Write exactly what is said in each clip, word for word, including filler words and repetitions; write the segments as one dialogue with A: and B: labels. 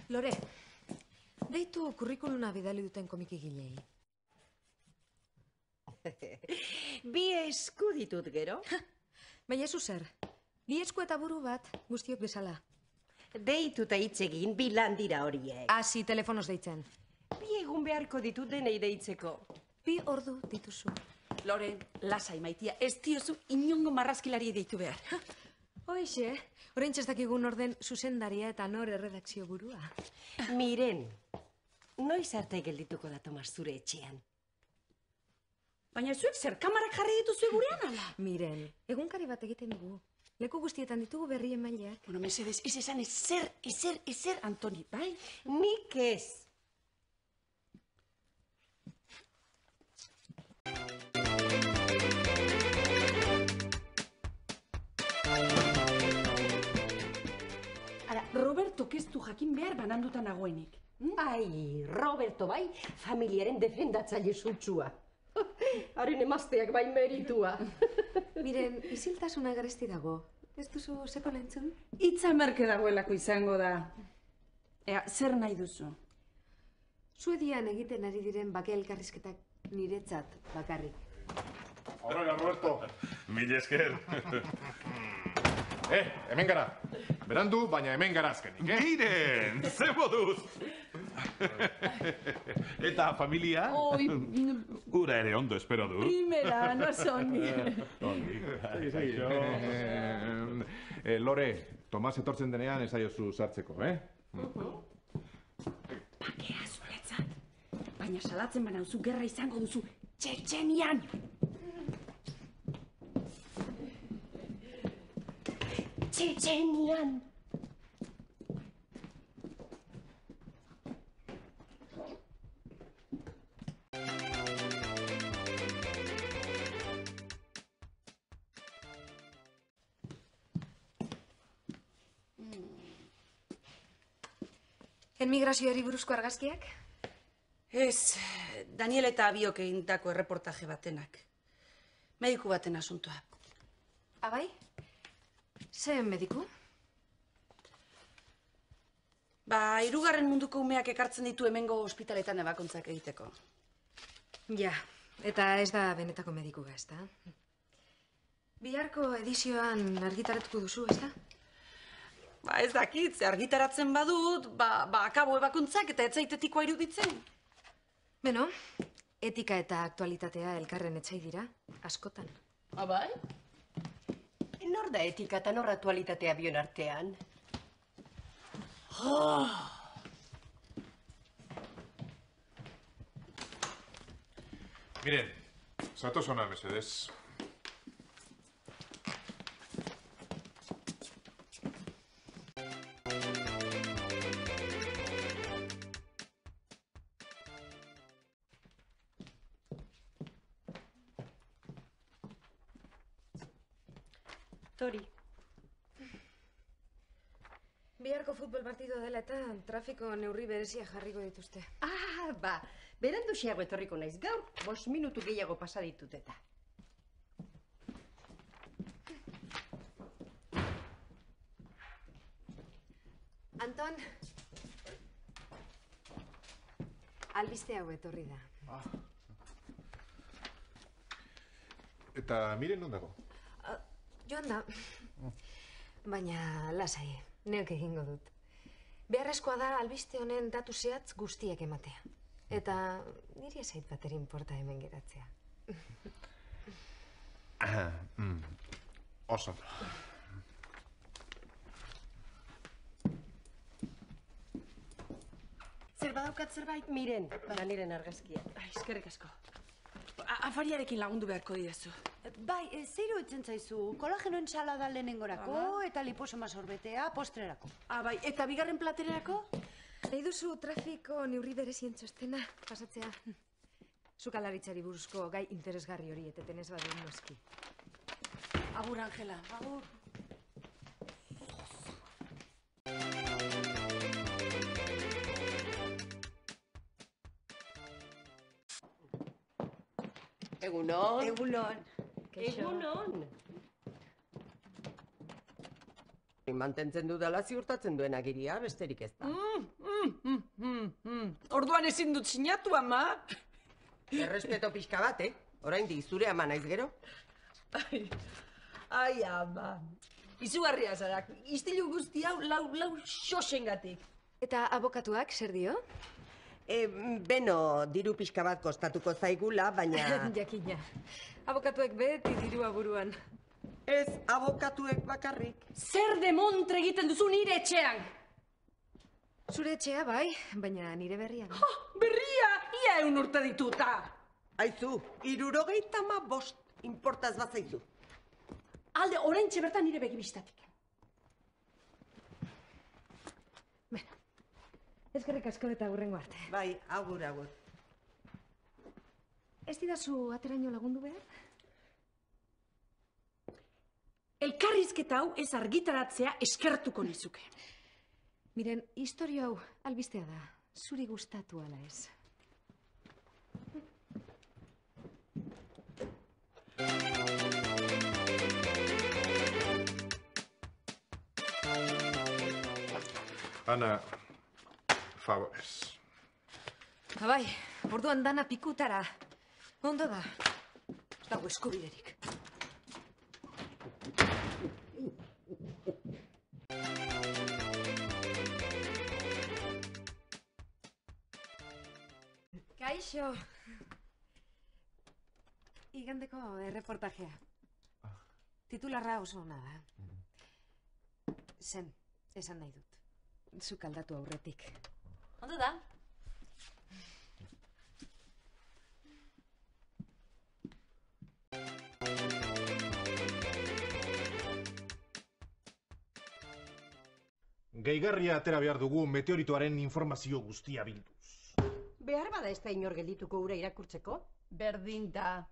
A: Lore, deitu kurrikuluna bidali duten komikigilei.
B: Bi esku ditut gero.
A: Baina zu zer, bi esku eta buru bat guztiok bezala.
B: Deitu eta hitz egin bi lan dira horiek.
A: Hasi telefonoz deitzen.
B: Bi egun beharko ditut denei deitzeko.
A: Bi ordu dituzu.
C: Lore, lasai maitia, ez diozu inongo marrazkilari deitu behar.
A: Hoixe, orain txestakigun orden zuzendaria eta nor erredakzio burua.
B: Miren, noiz arte geldituko da Tomas zure etxean?
C: Baina zuek zer kamarak jarri dituzu gurean, ala?
A: Miren, egunkari bat egiten dugu. Leku guztietan ditugu berrien maileak.
C: Bueno, mesedez, ez esan ezer, ezer, ezer, Antoni, bai?
B: Nik ez.
C: Roberto keztu jakin behar bananduta nagoenik.
B: Hm? Ai, Roberto bai, familiaren defendatzaile sutsua. Haren emazteak bai meritua.
A: Miren, isiltasuna garesti dago. Ez duzu seko lentzun?
C: Itza merke dagoelako izango da. Ea, zer nahi duzu?
A: Suedian egiten ari diren bake elkarrizketak niretzat bakarrik.
D: Horrela, Roberto.
E: Mil esker.
D: Eh, hemen gara. Berandu, baina hemen gara azkenik, eh?
E: Miren, ze moduz. Eta familia?
C: Oi,
E: Ura ere ondo espero du.
C: primera, no soni.
E: Ongi.
D: Eh, Lore, Tomas etortzen denean ez aiozu sartzeko, eh?
C: Bakea zuretzat. Baina salatzen banauzu gerra izango duzu Txetxenian.
B: Txetxenian.
A: Enmigrazioari buruzko argazkiak?
C: Ez, Daniel eta Abiok egindako erreportaje batenak. Mediku baten asuntoa.
A: Abai? Ze mediku?
C: Ba, hirugarren munduko umeak ekartzen ditu hemengo ospitaletan ebakuntzak egiteko.
A: Ja, eta ez da benetako medikuga, ez da? Biharko edizioan argitaratuko duzu, ez da?
C: Ba, ez dakit, ze argitaratzen badut, ba, ba akabo ebakuntzak eta etzaitetikua iruditzen.
A: Beno, etika eta aktualitatea elkarren etsai dira, askotan.
C: Abai?
B: Nor da etika eta nor aktualitatea bion artean?
D: Miren, zatoz hona, mesedez.
B: Tori.
A: Biharko futbol partido dela eta trafiko neurri berezia jarriko dituzte.
B: Ah, ba, berandu xeago etorriko naiz gaur, bost minutu gehiago pasa ditut eta.
A: Anton, albiste hau etorri da.
D: Ah. Eta miren non dago?
A: Joan da, baina lasai, neok egingo dut. Beharrezkoa da albiste honen datu zehatz guztiak ematea. Eta niri ezait bateri inporta hemen geratzea.
D: mm. Oso.
B: Zer badaukat zerbait, miren, bada niren argazkia.
C: Ai, eskerrik asko. afariarekin lagundu beharko didazu.
F: Bai, e, zeiru itzen zaizu, kolageno entsalada lehenengorako eta liposoma sorbetea postrerako.
C: Ah, bai, eta bigarren platererako?
A: Nahi duzu trafiko neurri berezien txostena pasatzea. Sukalaritzari buruzko gai interesgarri hori eteten ez badu noski.
C: Agur, Angela, agur.
B: Egunon.
F: Egunon.
B: Egunon. Mantentzen dudala ziurtatzen duen agiria, besterik ez da.
C: Orduan ezin dut sinatu, ama.
B: Errespeto pixka bat, eh? Oraindik zure ama naiz gero?
C: Ai, ai, ama. Izugarria zarak, istilu guzti hau lau, lau xosengatik.
A: Eta abokatuak zer dio?
B: E, beno, diru pixka bat kostatuko zaigula, baina...
A: Jakina. Abokatuek beti dirua buruan.
B: Ez abokatuek bakarrik.
C: Zer demontre egiten duzu nire etxean?
A: Zure etxea bai, baina nire berrian.
C: Ha, berria, ia eun urte dituta.
B: Aizu, irurogeita ma bost, inportaz bat zaizu.
C: Alde, oraintxe bertan nire begibistatik.
A: Bueno, ezkerrik asko eta hurrengo arte.
B: Bai, agur, agur.
A: Ez didazu ateraino lagundu behar?
C: Elkarrizketa hau ez argitaratzea eskertuko nizuke.
A: Miren, historia hau albistea da. Zuri gustatu ala ez.
D: Ana, favorez.
A: Bai, orduan dana pikutara. Ondo da. Ez dago eskubiderik. Kaixo. Igandeko erreportajea. Titularra oso ona da. Zen, esan nahi dut. Zuk aldatu aurretik.
F: Ondo da?
G: Gehigarria atera behar dugu meteoritoaren informazio guztia bilduz.
B: Behar bada ez da inor geldituko ura irakurtzeko?
C: Berdin da.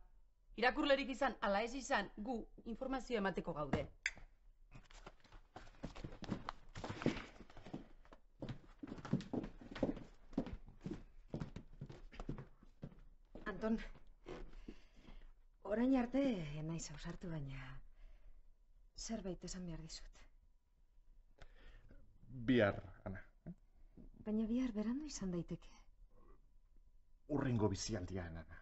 C: Irakurlerik izan, ala ez izan, gu informazio emateko gaude.
A: Anton, orain arte naiz ausartu, baina zerbait esan behar dizut.
D: Bihar, Ana.
A: Baina bihar berandu izan daiteke.
D: Urrengo bizialdian, Ana.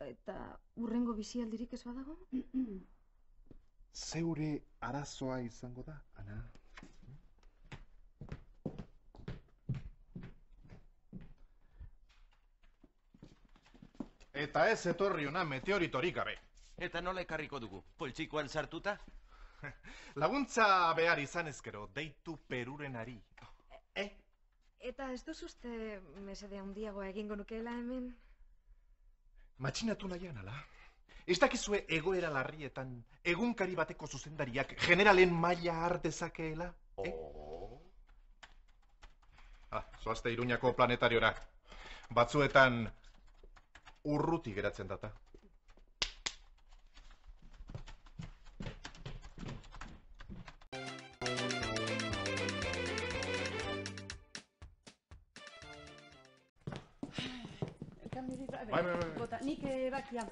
A: Eta urrengo bizialdirik ez badago?
D: Zeure arazoa izango da, Ana.
G: Eta ez etorri ona meteoritorik gabe.
E: Eta nola ekarriko dugu? Poltsikoan sartuta?
G: Laguntza behar izan ezkero, deitu Perurenari.
A: Eh? Eta ez duz uste mesede handiagoa egingo nukeela hemen?
G: Matxinatu nahian, ala? Ez dakizue egoera larrietan egunkari bateko zuzendariak generalen maila har dezakeela? Eh?
E: Oh.
G: Ah, zoazte Iruñako planetariora. Batzuetan urruti geratzen data.
C: Bai, bai, bai. Bota, nik bakia.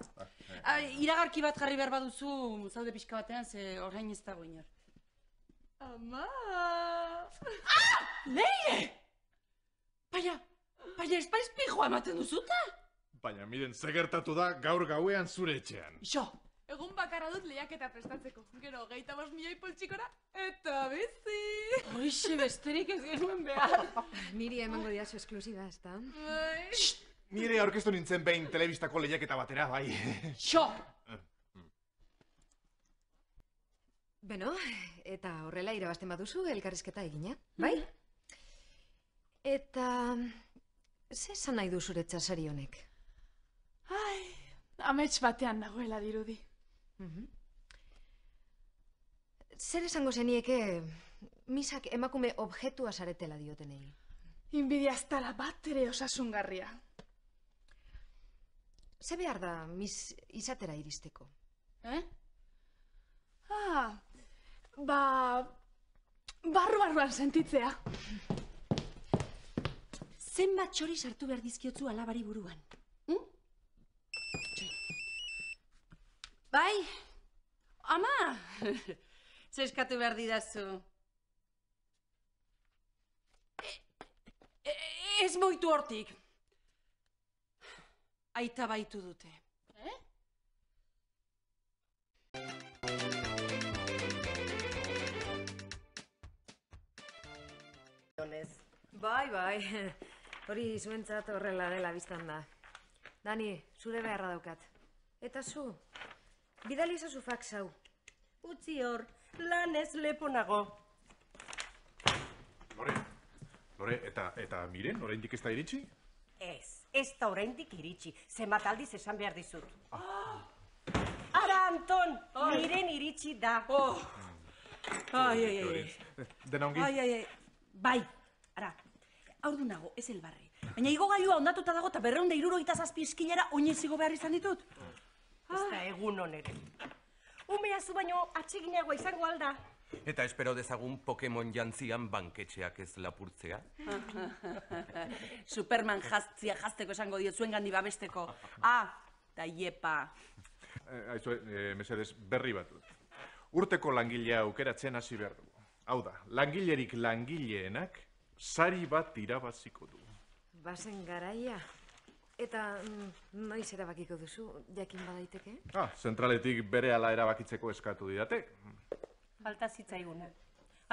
C: Iragarki bat jarri behar baduzu, zaude pixka batean, ze orain ez dago inor. Ama! Ah! Leire! Baina, baina espariz pijoa ematen duzuta?
G: Baina, miren, ze gertatu da gaur gauean zure etxean.
C: Ixo!
H: Egun bakarra dut lehiaketa prestatzeko. Gero, geita bost milioi poltsikora, eta bizi!
C: Hoixe besterik ez genuen behar.
A: Niri emango diazu esklusiba, ez da?
H: Bai.
G: Nire aurkeztu nintzen behin telebistako lehiaketa batera, bai.
C: Xo!
A: Beno, eta horrela irabazten baduzu elkarrizketa egina, bai? Eta... ze esan nahi du zuretzat sari honek?
C: Ai,
H: amets batean nagoela dirudi.
A: Zer esango zenieke misak emakume objektua zaretela diotenei?
H: Inbidia ez dala bat ere osasungarria.
A: Ze behar da mis izatera iristeko?
H: Eh? Ah, ba... barru-barruan sentitzea.
B: Zenbat txori sartu behar dizkiotzu alabari buruan? Hm?
C: Bai, ama! Zeskatu behar didazu. E, ez moitu hortik. Aita baitu dute.
H: Eh?
A: Bai, bai. Hori zuentzat horrela dela biztan da. Dani, zure beharra daukat. Eta zu, bidali ezazu fax hau.
B: Utzi hor, lan ez leponago.
D: Lore, Lore, eta, eta miren, oraindik ez da iritsi?
B: Ez, ez da oraindik iritsi. Zenbat aldiz esan behar dizut. Ara, Anton, miren iritsi da.
C: Ai, ai, ai.
D: Dena ongi?
C: Ai, ai, ai. Bai, ara, aurdu nago, ez elbarri. Baina igo gailua ondatuta dago eta berreunda irurogeita zazpi eskinera oinez igo behar izan ditut.
B: Ez da egun onere. Umea zu baino atseginagoa izango alda.
I: Eta espero dezagun Pokemon jantzian banketxeak ez lapurtzea.
C: Superman jaztzia jazteko esango diot zuen gandi babesteko. Ah, da iepa.
D: Aizu, mesedez, berri bat dut. Urteko langilea aukeratzen hasi behar dugu. Hau da, langilerik langileenak sari bat irabaziko du.
A: Bazen garaia. Eta noiz erabakiko duzu, jakin badaiteke?
D: Ah, zentraletik berehala erabakitzeko eskatu didate.
B: Falta zitzaiguna.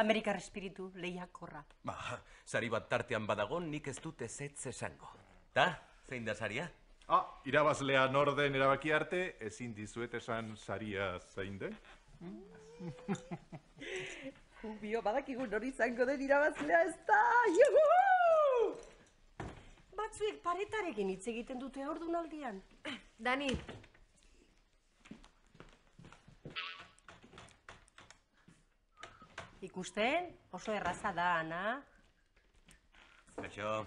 B: Amerikar espiritu lehiakorra.
I: Ba, sari bat tartean badago nik ez dut ezetz esango. Ta, zein da saria?
D: Ah, irabazlea norden erabaki arte, ezin dizuet esan saria zein den?
B: Bio, badakigu nori izango den irabazlea ez da! Juhu! Batzuek paretarekin hitz egiten dute ordunaldian.
A: Dani.
B: Ikusten, oso erraza da, Ana.
I: Kaixo.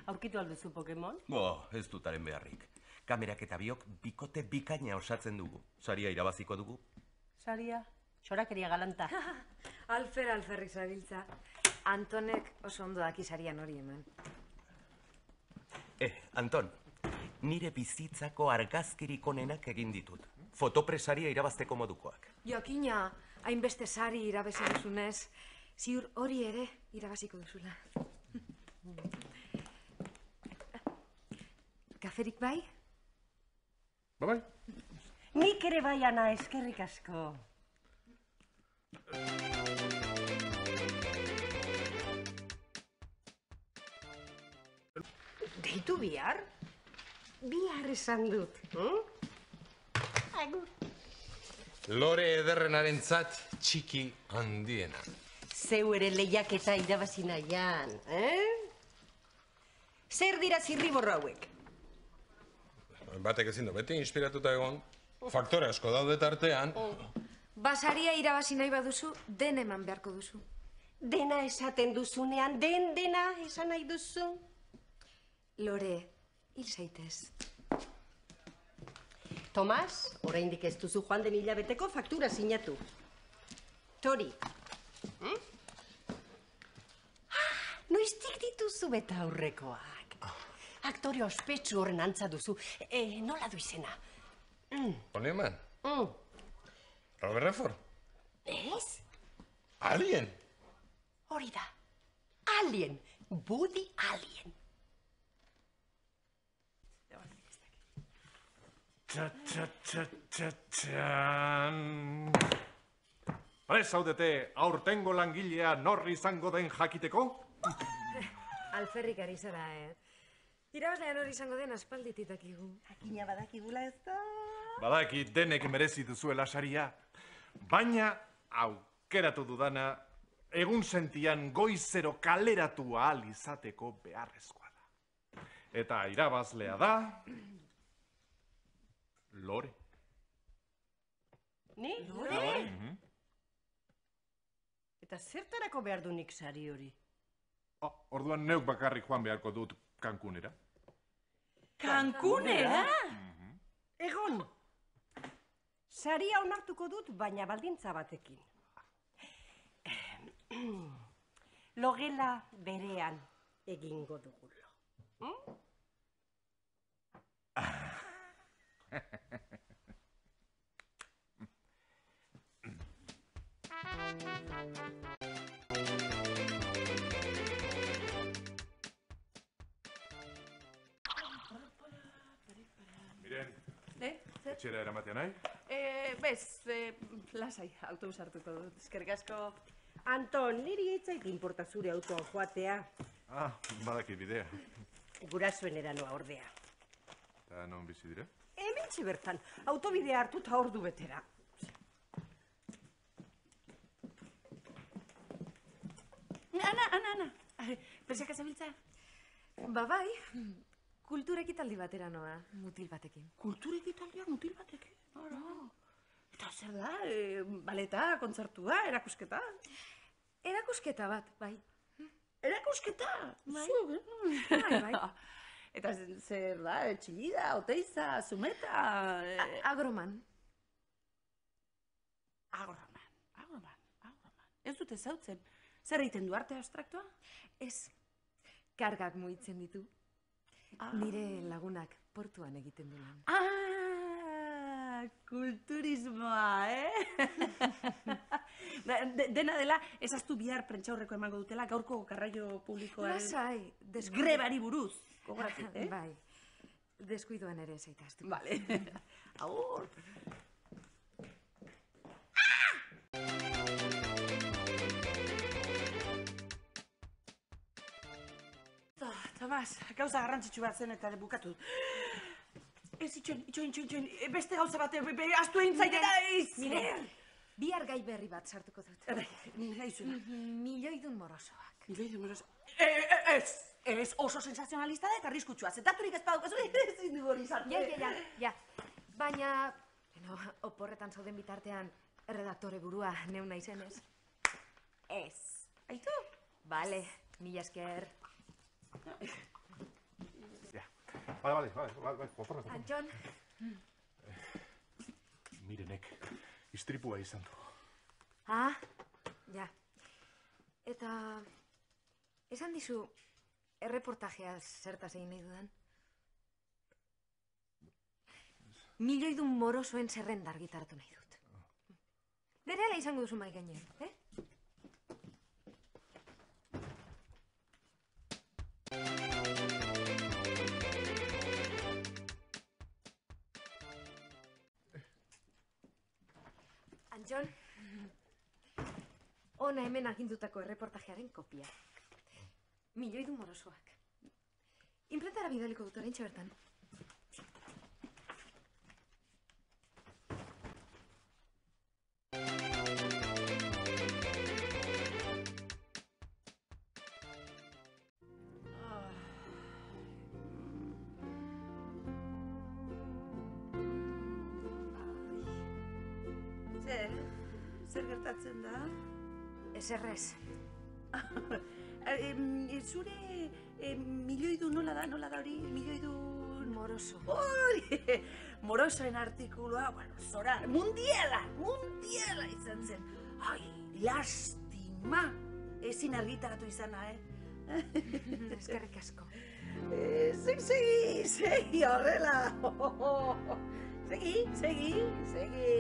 B: Aurkitu alduzu Pokemon?
I: Bo, ez dutaren beharrik. Kamerak eta biok bikote bikaina osatzen dugu. Saria irabaziko dugu.
B: Saria, txorakeria galanta.
A: Alfer, alferrik zabiltza. Antonek oso ondo daki sarian hori eman.
I: Eh, Anton, nire bizitzako argazkirik onenak egin ditut. Fotopresaria irabazteko modukoak.
A: Joakina, hainbeste sari irabazi duzunez, ziur hori ere irabaziko duzula. Kaferik bai?
D: Ba bai.
B: Nik ere bai, Ana, eskerrik asko. Deitu bihar? Bihar esan dut. Agur.
J: Lore ederrenaren zat txiki handiena.
B: Zeu ere lehiaketa irabazi nahian, eh? Zer dira zirriborro hauek?
J: Batek ezin du beti inspiratuta egon. Faktore asko daude tartean.
A: Basaria irabazi nahi baduzu, den eman beharko duzu.
B: Dena esaten duzunean, den dena esan nahi duzu.
A: Lore, hil zaitez.
B: Tomas, oraindik ez duzu joan den hilabeteko faktura sinatu. Tori. Hmm? Ah, noiztik dituzu beta aurrekoak. Aktore ospetsu horren antza duzu. E, nola du izena? Mm.
J: Honeman?
B: Mm.
J: Robert Redford?
B: Ez?
J: Alien?
B: Hori da. Alien. Woody Alien.
D: Txa-txa-txa-txa-txan. Prest zaudete aurtengo langilea norri izango den jakiteko?
A: Alferrik ari zara, eh? Irabazlean hori izango den aspalditik dakigu.
B: Jakina badakigula ez da?
D: Badaki denek merezi duzuela saria, baina aukeratu dudana egun sentian goizero kaleratu ahal izateko beharrezkoa da. Eta irabazlea da... Lore.
B: Ni?
D: Lore?
B: Eta zertarako behar du nik sari hori?
D: Oh, orduan neuk bakarrik joan beharko dut Cancunera.
C: Cancunera?
B: Egon! Saria onartuko dut, baina baldintza batekin. Logela berean egingo dugulo. Hmm?
D: Miren,
C: Eh?
D: etxera eramatea nahi?
C: Eh, bez, eh, lasai, autobus hartuko dut, eskerrik asko.
B: Anton, niri eitzait inporta zure autoan joatea.
D: Ah, badakit bidea.
B: Gurasoen eranoa ordea.
D: Eta non bizi dire?
B: Hementxe bertan, autobidea hartu eta ordu betera.
C: Ana, Ana, Ana, persiaka zabiltza?
A: Ba bai, kulturekitaldi batera noa, mutil batekin.
C: Kulturekitaldia mutil batekin? Ara. Eta zer da, e, baleta, kontzertua, erakusketa?
A: Erakusketa bat, bai.
C: Erakusketa?
A: Bai.
C: Zu, eh?
A: Bai, bai.
C: Eta zer da, txillida, oteiza, zumeta...
A: A- agroman.
C: Agroman, agroman, agroman. Ez dute zautzen. Zer egiten du arte abstraktua?
A: Ez, kargak mugitzen ditu.
C: Ah.
A: Nire lagunak portuan egiten du lan.
C: Ah, kulturismoa, eh? De, dena dela, ezaztu bihar prentxaurreko emango dutela gaurko garraio publikoaren...
A: Lasai, deskuidu...
C: Grebari buruz, gogoratu, eh?
A: Bai, deskuiduan ere zaitaztu.
C: Vale. Agur. Tomas, gauza garrantzitsu bat zen eta bukatu. Ez, itxoin, itxoin, itxoin, itxoin, beste gauza bat, astu egin zaite da, ez!
A: Miren, bihar gai berri bat sartuko dut.
C: Bai, nahi zuen.
A: Milioidun morosoak.
C: Milioidun morosoak. Ez, ez, oso sensazionalista da eta arriskutsua. Zetaturik ez badukazu, ezin du hori sartu.
A: Ja, ja, ja, ja. Baina, bueno, oporretan zauden bitartean, erredaktore burua neu naizenez.
C: Ez. Aitu?
A: Bale, mila esker.
D: Ja, bale, bale, bale, bale, oporra, oporra.
A: Antxon.
D: Mirenek, istripua izan du.
A: Ah, ja. Eta, esan dizu, erreportajea zertaz egin nahi dudan? Milioidun morosoen zerrenda argitaratu nahi dut. Berehala izango duzu mai gainean, eh? Antxon, ona hemen agindutako erreportajearen kopia. Milioidun morosoak. Imprentara bidaliko dut oraintxe bertan.
C: Zer, zer gertatzen da?
A: Ezerrez.
C: Zure milioidu nola da, nola da hori? Milioidu...
A: Moroso.
C: Hori, morosoen artikulua, bueno, zora, mundiala, mundiala izan zen. Ai, lastima, ezin argitaratu izana, eh?
A: Eskerrik asko.
C: Segi, segi, segi, horrela. Segi, segi, segi.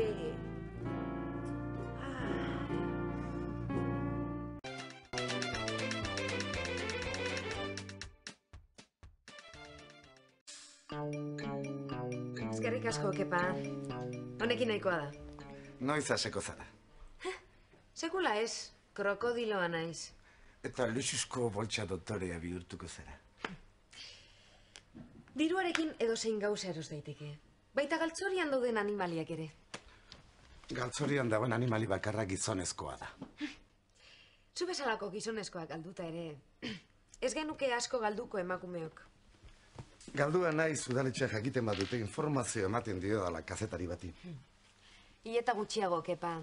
A: Eskerrik asko, kepa. Honekin nahikoa da.
K: Noiz haseko zara.
A: Sekula ez, krokodiloa naiz.
K: Eta luxuzko boltsa doktorea bihurtuko zara.
A: Diruarekin edozein gauza eros daiteke. Baita galtzorian dauden animaliak ere.
K: Galtzorian dagoen animali bakarra gizonezkoa da.
A: Zu bezalako gizonezkoak galduta ere, ez genuke asko galduko emakumeok.
K: Galdua naiz udaletxea jakiten badute informazio ematen dio dala kazetari bati.
A: Ieta gutxiago, kepa.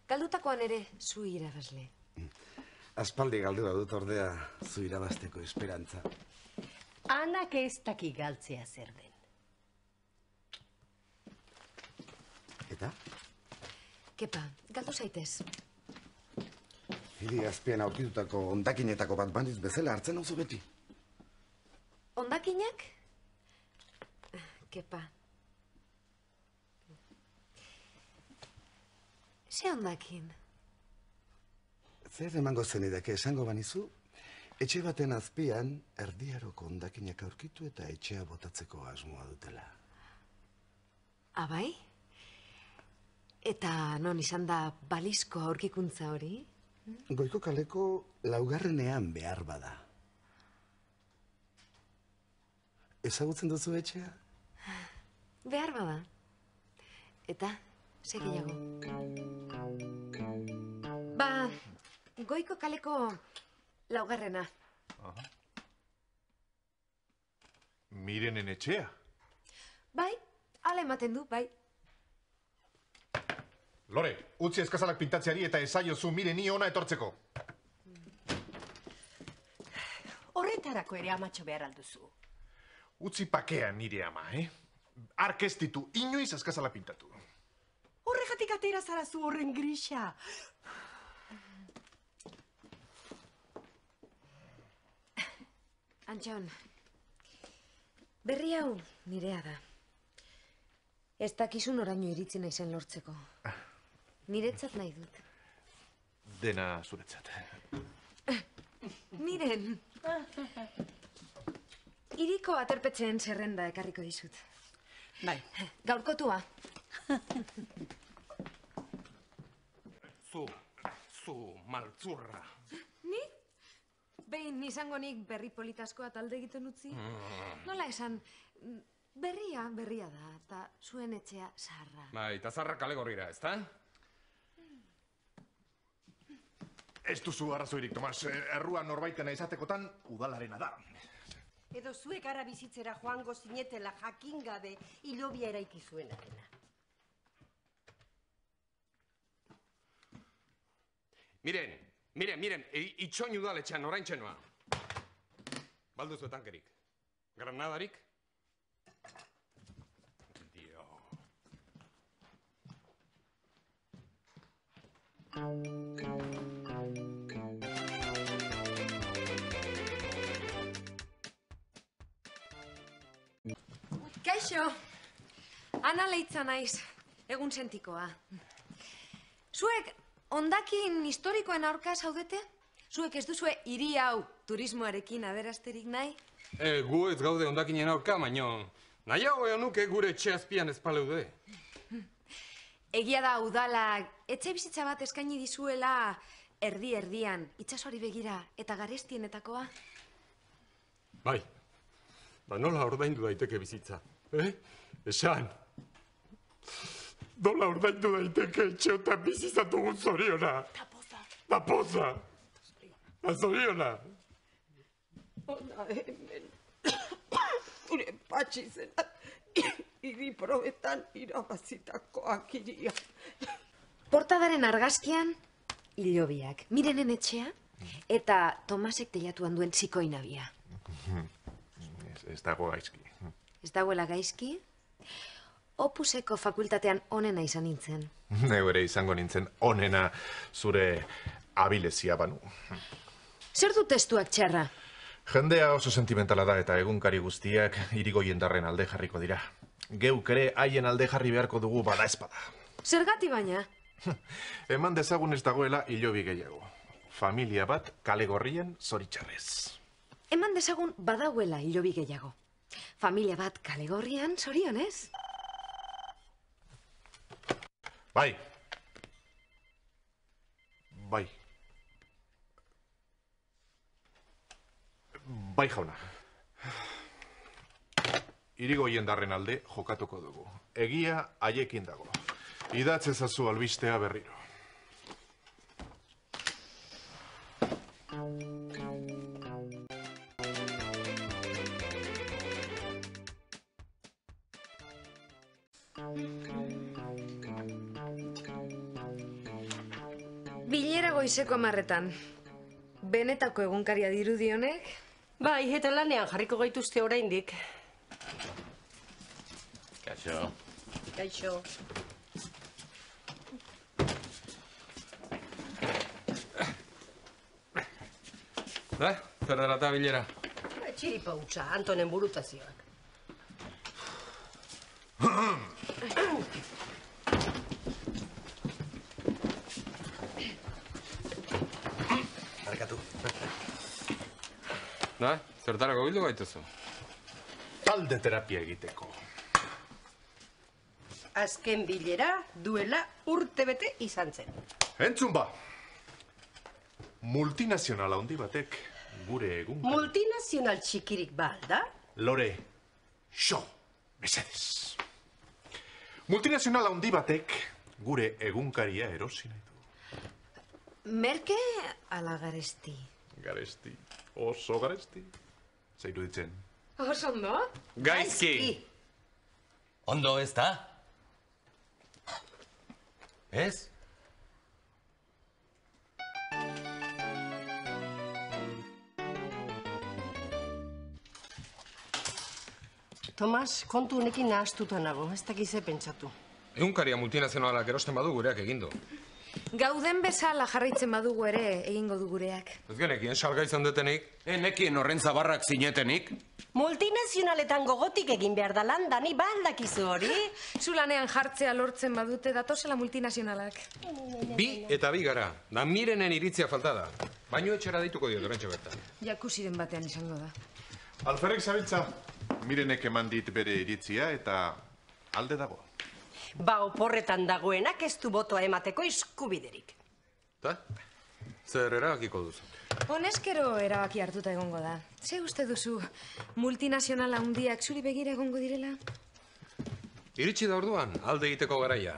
A: Galdutakoan ere zu irabazle.
K: Aspaldi galdua dut ordea zu irabazteko esperantza.
B: Anak ez daki galtzea zer den.
K: Eta?
A: Kepa, galdu zaitez.
K: Hiri azpian aurkitutako ondakinetako bat bandiz bezala hartzen hauzu beti.
A: Ondakinak? Kepa. Ze ondakin?
K: Zer emango zenidake esango banizu, etxe baten azpian erdiaroko ondakinak aurkitu eta etxea botatzeko asmoa dutela.
A: Abai? Eta non izan da balizko aurkikuntza hori?
K: Goiko kaleko laugarrenean behar bada. Ezagutzen duzu etxea?
A: Behar bada. Eta, segiago. Ba, goiko kaleko laugarrena.
D: Mirenen etxea?
A: Bai, ala ematen du, bai.
G: Lore, utzi eskazalak pintatzeari eta esaiozu Mireni ona etortzeko.
B: Horretarako ere amatxo behar alduzu.
G: Utzi pakean nire ama, eh? Ark ez ditu inoiz eskazalak pintatu.
B: Horregatik atera zarazu horren grisa.
A: Antxon, berri hau nirea da. Ez dakizun oraino iritzi naizen lortzeko. Niretzat nahi dut.
D: Dena zuretzat.
A: Miren, iriko aterpetzen zerrenda ekarriko dizut.
B: Bai.
A: Gaurkotua.
I: Zu, zu, maltzurra.
A: Ni? Behin izango nik berri politaskoa talde egiten utzi? Nola esan, berria, berria da, eta zuen etxea zaharra.
J: Bai, eta zaharra kale gorrira, ezta?
G: Ez duzu arrazoirik, Tomas. Errua norbaitena izatekotan udalarena da.
B: Edo zuek ara bizitzera joango zinetela jakin gabe hilobia eraiki zuenarena.
J: Miren, miren, miren, itxoin udaletxean orain txenoa. Balduzu tankerik. Granadarik? Dio.
A: Kaixo, Ana Leitza naiz, egun sentikoa. Zuek hondakin historikoen aurka zaudete? Zuek ez duzue hiri hau turismoarekin aberasterik nahi?
J: E, gu ez gaude hondakinen aurka, baino nahiago egon nuke gure etxe azpian espaleude.
A: Egia da udalak etxe bizitza bat eskaini dizuela erdi-erdian, itsasori begira eta garestienetakoa?
J: Bai, ba nola ordaindu daiteke bizitza, eh? Esan, nola ordaindu daiteke etxeotan bizizatugun zoriona?
B: Ta poza.
J: Ta poza. Ta zoriona.
B: Ona hemen, gure patxi zena, hiri probetan irabazitakoak iria.
A: Portadaren argazkian, hilobiak, Mirenen etxea, eta Tomasek teilatuan duen zikoinabia.
D: Ez, ez dago gaizki.
A: Ez dagoela gaizki? Opuseko fakultatean onena izan nintzen.
D: Neu ere izango nintzen onena zure abilezia banu.
A: Zer du testuak txarra?
D: Jendea oso sentimentala da eta egunkari guztiak irigoiendarren alde jarriko dira. Geuk ere haien alde jarri beharko dugu bada espada.
A: Zergati baina?
D: Eman dezagun ez dagoela hilobi gehiago. Familia bat kale gorrien zoritxarrez.
A: Eman dezagun badagoela hilobi gehiago. Familia bat kale gorrian zorionez?
D: Bai. Bai. Bai, jauna. Irigoiendarren alde jokatuko dugu. Egia haiekin dago. Idatz ezazu albistea berriro.
A: Bilera goizeko amarretan. Benetako egunkaria dirudionek?
B: Bai, eta lanean jarriko gaituzte oraindik.
E: Kaixo.
B: Kaixo.
J: Da, zer dela eta bilera?
B: Txiripa hutsa, Antonen burutazioak.
K: Barkatu.
J: Da, zertarako bildu gaituzu?
G: Talde terapia egiteko.
B: Azken bilera duela urtebete izan zen.
G: Entzun ba! Multinazional handi batek gure egun...
B: Multinazional txikirik ba, da?
G: Lore, xo, mesedez. Multinazional handi batek gure egunkaria erosi nahi du.
A: Merke ala garesti?
G: Garesti, oso garesti. Zeiru ditzen.
A: Oso ondo?
J: Gaizki!
I: Ondo ez da? Ez?
B: Tomas, kontu honekin nahastuta nago, ez dakize pentsatu.
J: Egunkaria multinazionalak erosten badu gureak egindu.
A: Gauden bezala jarraitzen badugu ere egingo du gureak.
J: Ez genekien salga izan detenik?
I: Enekien horren zabarrak zinetenik?
B: Multinazionaletan gogotik egin behar da lan, Dani, ba aldakizu hori?
A: Zulanean jartzea lortzen badute datozela multinazionalak.
J: Bi eta bi gara, da mirenen iritzia falta da. Baino etxera dituko diot orentxe bertan.
A: Jakusiren batean izango da.
G: Alferrek zabiltza, mirenek eman dit bere iritzia eta alde dago.
B: Ba, oporretan dagoenak ez du botoa emateko eskubiderik.
J: Ta? Zer erabakiko duzu?
A: Honezkero erabaki hartuta egongo da. Ze uste duzu multinazional handiak zuri begira egongo direla?
J: Iritsi da orduan, alde egiteko garaia.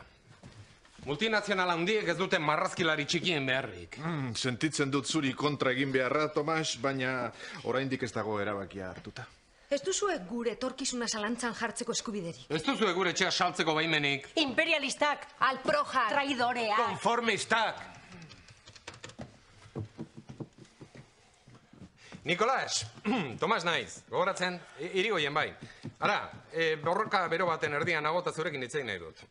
J: Multinazional handiek ez duten marrazkilari txikien beharrik.
G: Mm, sentitzen dut zuri kontra egin beharra, Tomas, baina oraindik ez dago erabakia hartuta.
A: Ez duzue gure etorkizuna zalantzan jartzeko eskubiderik.
J: Ez duzue gure etxea saltzeko baimenik.
B: Imperialistak,
A: alprojak,
B: traidoreak,
J: konformistak. Nikolas, Tomas naiz, gogoratzen, irigoien bai. Ara, e, borroka bero baten erdian agota zurekin hitzein nahi dut.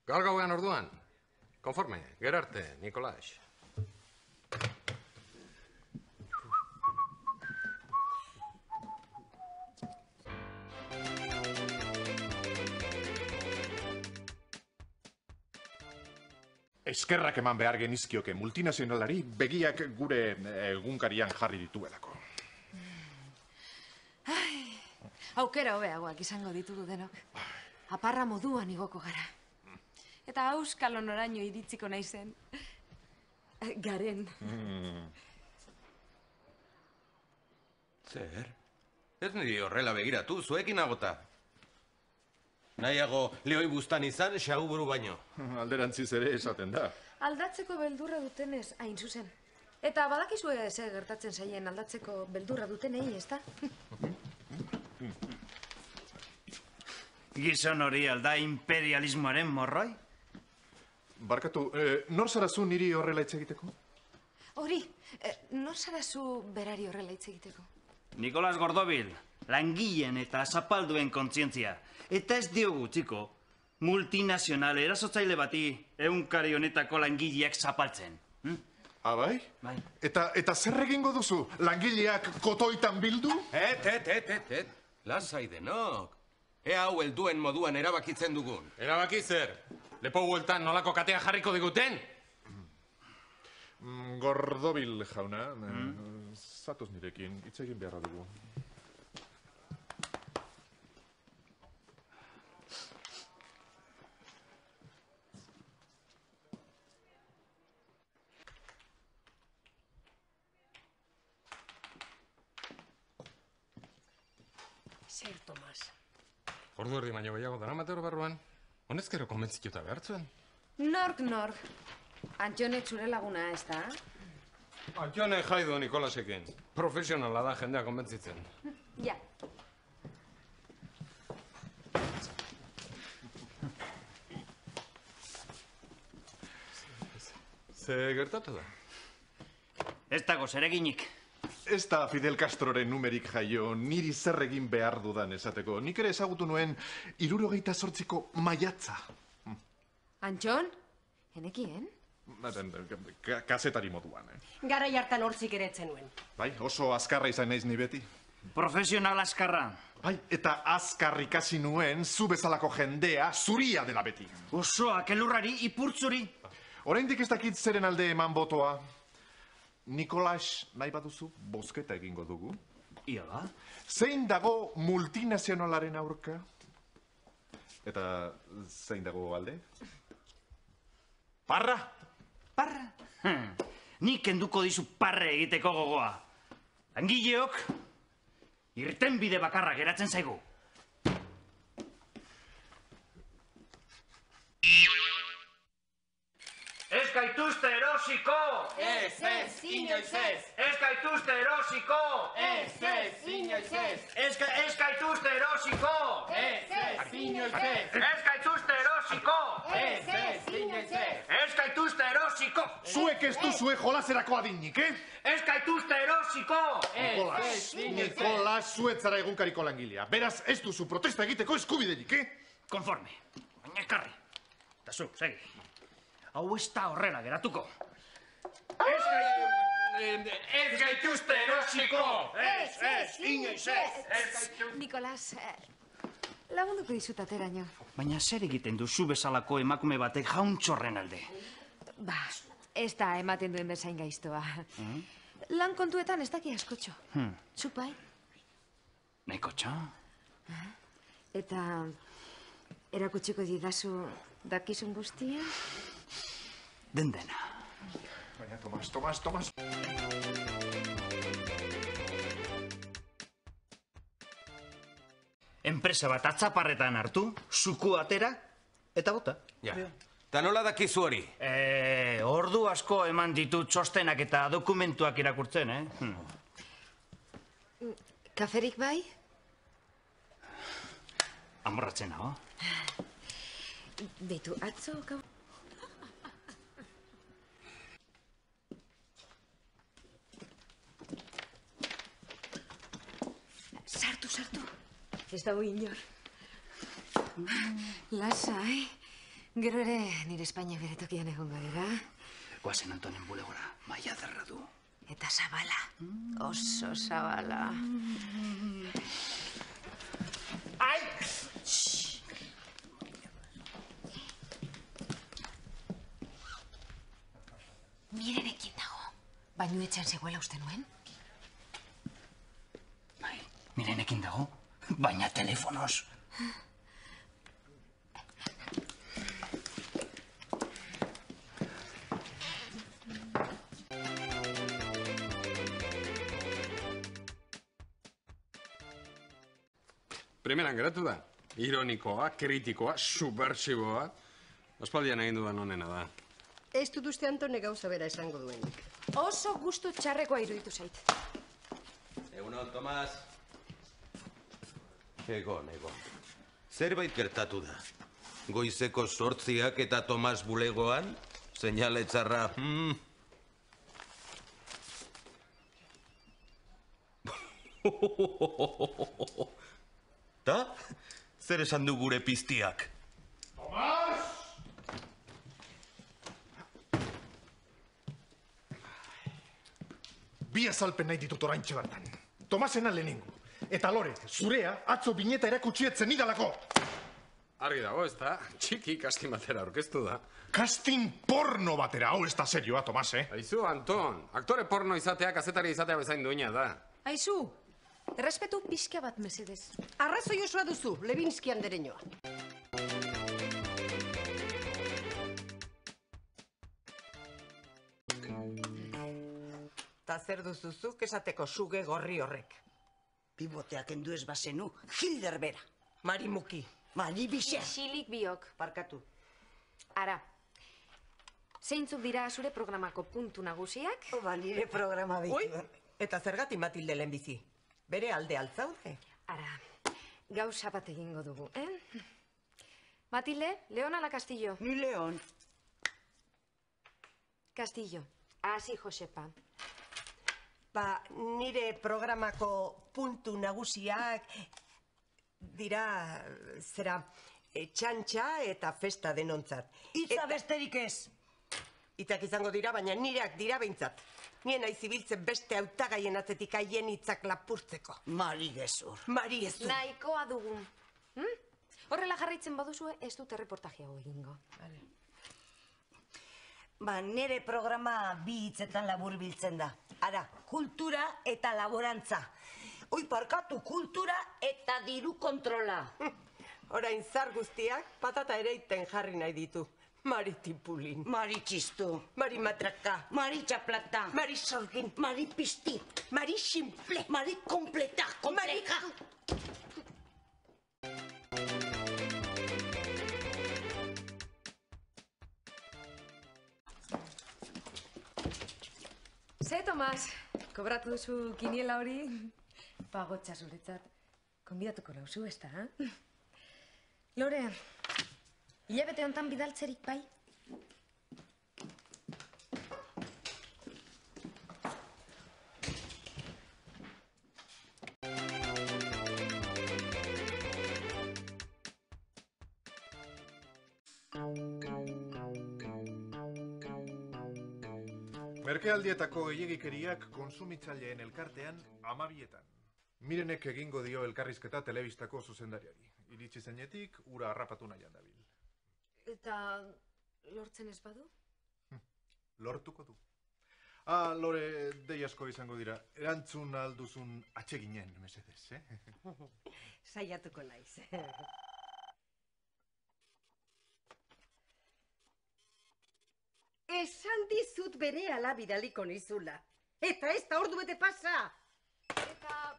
J: Gaur gauean orduan, konforme, gerarte, Nikolas.
G: Eskerrak eman behar genizkioke multinazionalari begiak gure egunkarian jarri dituelako.
A: Ai, aukera hobeagoak izango ditugu denok. Aparra moduan igoko gara. Eta auskalo noraino iritziko naizen. Garen.
I: Mm. Zer? Ez niri horrela begiratu, zuekin agota. Nahiago lehoi buztan izan, xaguburu baino.
G: Alderantziz ere esaten da.
A: Aldatzeko beldurra dutenez hain zuzen. Eta badakizue ze gertatzen zaien aldatzeko beldurra dutenei, ezta?
L: Gizon hori alda imperialismoaren morroi?
G: Barkatu, eh, nor zarazu niri horrela hitz egiteko?
A: Hori, eh, nor zarazu berari horrela hitz egiteko?
L: Nikolas Gordobil, langileen eta zapalduen kontzientzia. Eta ez diogu, txiko, multinazional erasotzaile bati egunkari honetako langileak zapaltzen. Hm?
G: Ah, bai?
L: Bai.
G: Eta, eta zer egingo duzu? Langileak kotoitan bildu?
I: Et, et, et, et, et. Lasai denok. Ea hau helduen moduan erabakitzen dugun.
J: Erabaki zer? Lepo hueltan nolako katea jarriko diguten?
G: Mm, Gordobil jauna, mm? Zatoz nirekin, hitz egin beharra dugu.
B: Zer, Tomas?
J: Ordu erdi baino gehiago dara matero barruan. Honezkero konbentzituta behartzuen.
A: Nork, nork. Antxonek zure laguna, ez da?
J: Antxone jaidu Nikolasekin. Profesionala da jendea konbentzitzen.
A: Ja.
J: Ze gertatu da?
L: Ez dago zereginik.
G: Ez da Fidel Castroren numerik jaio, niri zer egin behar dudan esateko. Nik ere ezagutu nuen hirurogeita zortziko maiatza.
A: Antxon, enekien?
G: Ka- Kazetari moduan, eh?
B: Garai hartan hortzik ere etzenuen.
G: Bai, oso azkarra izan naiz ni beti.
L: Profesional azkarra.
G: Bai, eta azkar ikasi nuen zu bezalako jendea zuria dela beti.
L: Osoak elurrari ipurtzuri.
G: Oraindik ez dakit zeren alde eman botoa. Nikolas, nahi baduzu, bozketa egingo dugu.
L: Ia ba?
G: Zein dago multinazionalaren aurka? Eta zein dago alde? Parra!
L: Parra? Hm. Nik kenduko dizu parre egiteko gogoa. Langileok, irtenbide bakarra geratzen zaigu. Ez gaituzte erosiko!
M: Ez, ez, inoiz ez!
L: Ez gaituzte erosiko!
M: Ez, ez, inoiz ez!
L: Ez ga- ez gaituzte erosiko!
M: Ez, ez, inoiz ez!
L: Ez gaituzte erosiko!
M: Ez, ez, inoiz ez!
L: Ez gaituzte erosiko!
G: Zuek ez duzue jolaserako adinik, eh?
L: Ez gaituzte erosiko!
G: Nikolas, Nikolas, zuetzara egunkariko langilea. Beraz, ez duzu protesta egiteko eskubiderik, eh?
L: Konforme, baina ekarri. Eta zu, segi. Hau ez da horrela geratuko. Ez gaitu... Ez gaituzte erosiko!
A: Ez, ez, inoiz ez! Nikolas, eh, lagunduko dizut ateraino.
L: Baina zer egiten duzu bezalako emakume batek jauntxorren alde?
A: Ba, ez da ematen duen bezain gaiztoa. Lan kontuetan ez daki askotxo.
L: Hmm.
A: Zupai.
L: Nahiko txo?
A: Eta erakutsiko didazu dakizun guztia?
L: Den dena.
G: Baina, Tomas, Tomas, Tomas.
L: Enpresa bat atzaparretan hartu, zuku atera, eta bota.
E: Ja. Ta nola dakizu hori?
L: Eh, ordu asko eman ditut txostenak eta dokumentuak irakurtzen, eh? Hmm.
A: Kaferik bai?
L: Amorratzen nago.
A: Beitu, atzo gau... Sartu, sartu. Ez dago inor. Lasa, eh? Gero ere nire Espainia bere tokian egongo dira.
L: Guazen Antonen bulegora, maia derra du.
A: Eta zabala. Oso zabala.
L: Ai!
A: Mirenekin dago. Baino etxan zegoela uste nuen?
L: Mirenekin dago, baina telefonoz.
J: Primeran geratu da. Ironikoa, kritikoa, subversiboa. Aspaldian egin dudan honena da.
B: Ez dut uste Antone gauza bera esango duenik.
A: Oso gustu txarrekoa iruditu zait.
E: Egunon, Tomas. Egon, egon. Zerbait gertatu da. Goizeko sortziak eta Tomas bulegoan, seinale txarra... Hmm. Ta? Zer esan du gure piztiak?
G: Tomas! Bi azalpen nahi ditut oraintxe bertan. Tomasena lehenengo. Eta lore, zurea, atzo bineta erakutxietzen idalako.
J: Argi dago, ez da? Txiki kastin batera orkestu da.
G: Kastin porno batera, hau ez da serioa, Tomas, eh?
J: Aizu, Anton, aktore porno izatea, kazetari izatea bezain duina da.
A: Aizu, errespetu pixka bat mesedez.
B: Arrazoi osoa duzu, Levinsky andereñoa.
N: Ta zer duzuzuk esateko suge gorri horrek.
F: Piboteak endu ez bazenu, Hilder bera.
N: Marimuki.
F: Maribixe.
A: Isilik biok.
N: Parkatu.
A: Ara, zeintzuk dira zure programako puntu nagusiak?
F: Ba, nire programa bitu.
N: Ui, eta zergatik Matilde lehenbizi? Bere alde altzaude?
A: Ara, gauza bat egingo dugu, eh? Matilde, Leon ala Castillo?
F: Ni Leon.
A: Castillo. Hasi, Josepa.
B: Ba, nire programako puntu nagusiak dira, zera, txantxa eta festa denontzat.
N: Itza besterik ez.
B: Itzak izango dira, baina nireak dira behintzat. Nien naiz ibiltzen beste hautagaien atzetik haien hitzak lapurtzeko.
N: Mari gezur.
B: Mari gezur.
A: Nahikoa dugu. Hm? Horrela jarraitzen baduzue, ez dute reportaje hau egingo.
B: Vale.
N: Ba, nire programa bi hitzetan labur biltzen da. Ara, kultura eta laborantza. Oi, parkatu, kultura eta diru kontrola.
B: Orain zar guztiak patata ereiten jarri nahi ditu. Mari tipulin.
N: Mari txistu.
B: Mari matraka.
N: Mari txaplata.
B: Mari sorgin.
N: Mari pisti.
B: Mari simple.
N: Mari kompleta, kompleja.
A: Ze, Tomas, kobratu duzu kiniela hori? Pagotxa zuretzat. Konbidatuko nauzu, ez da? Lore, hilabete honetan bidaltzerik bai?
D: Merkealdietako gehiegikeriak konsumitzaileen elkartean amabietan. Mirenek egingo dio elkarrizketa telebistako zuzendariari. Iritsi zeinetik, ura harrapatu nahian dabil.
A: Eta lortzen ez badu?
D: Lortuko du. Ah, Lore, dei asko izango dira. Erantzun alduzun atseginen, mesedez, eh?
B: Saiatuko naiz. Esan dizut berehala bidaliko nizula. Eta ez da ordu bete pasa.
A: Eta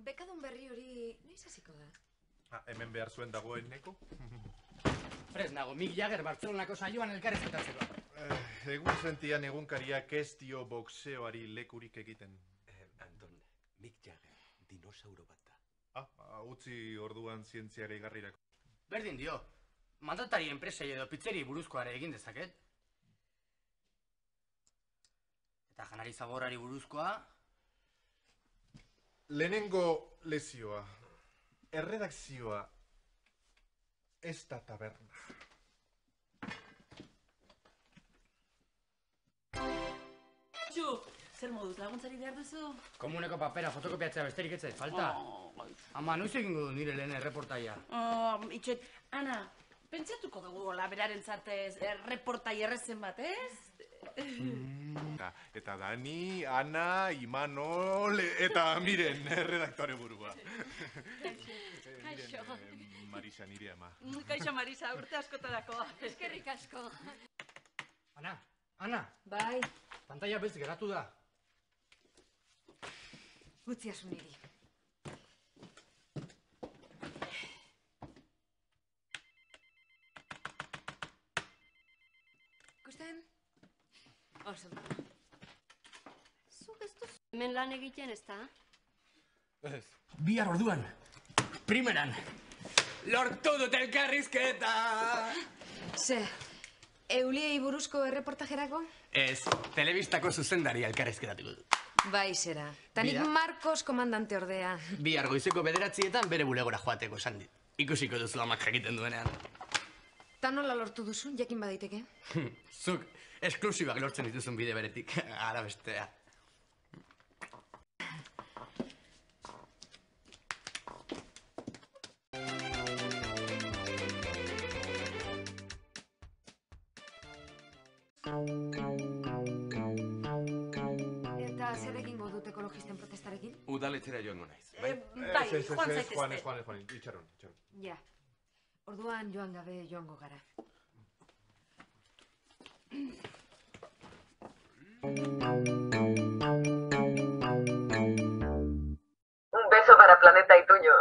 A: bekadun berri hori noiz hasiko da?
D: Ah, hemen behar zuen dagoeneko?
O: Prez nago, Mick Jagger Bartzelonako saioan elkarrizketatzeko.
D: Eh, egun sentian egunkariak ez dio boxeoari lekurik egiten.
E: Eh, Anton, Mick Jagger, dinosauro bat da.
D: Ah, utzi orduan zientziare igarrirako.
O: Berdin dio, mandatari enpresei edo pizzeri buruzkoare egin dezaket. Eta janari zaborari buruzkoa...
D: Lehenengo lezioa, erredakzioa, ez da taberna.
C: Txu, zer moduz laguntzari behar duzu?
O: Komuneko papera fotokopiatzea besterik ez zait falta. Ama, noiz egingo du nire lehen erreportaia?
C: Oh, itxoet, Ana, pentsatuko dugu laberaren zartez erreportai errezen bat, ez?
D: Eta Dani, Ana, Imanol, eta miren, redaktore burua.
H: Kaixo.
D: Marisa, nire ama.
C: Kaixo, Marisa, urte askotarako.
H: Eskerrik asko.
O: Ana, Ana.
A: Bai.
O: Pantalla beltz geratu da.
A: Utziazu niri. Ikusten? Oso.
H: Zuk ez duz hemen lan egiten ez da?
O: Ez. Bihar orduan, primeran, lortu dut elkarrizketa!
A: Ze, Euliei buruzko erreportajerako?
O: Ez, telebistako zuzendaria elkarrizketatuko du.
A: Bai, zera. Tanik Marcos komandante ordea.
O: Bihar goizeko bederatzietan bere bulegora joateko esan dit. Ikusiko duzu amak jakiten duenean.
A: Ta nola lortu duzu, jakin badaiteke?
O: Zuk, esklusibak lortzen dituzun bide beretik, ara bestea.
A: Eta zer egingo dut ekologisten protestarekin?
E: Udaletxera joango naiz.
A: Bai, bai, joan zaitezte.
D: Joan, joan, joan, itxaron, itxaron.
A: Ja. Orduan joan gabe joango gara.
P: Un beso para Planeta Ituño.